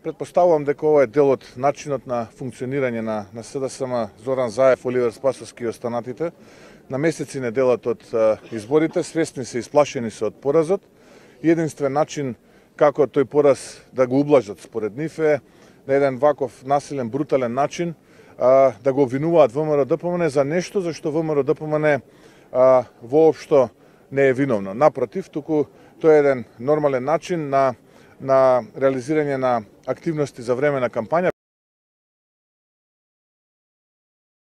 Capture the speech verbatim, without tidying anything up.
Предпоставувам дека ова е дел од начинот на функционирање на, на СДСМ Зоран Заев, Оливер Спасовски и останатите. На месеци не делат од а, изборите, свесни се, исплашени се од поразот. И единствен начин како тој пораз да го ублажат според нив е на еден ваков насилен, брутален начин а, да го обвинуваат ВМРО-ДПМН за нешто за што ВМРО-ДПМН а, воопшто не е виновно. Напротив, туку тој е еден нормален начин на на реализирање на активности за време на кампања.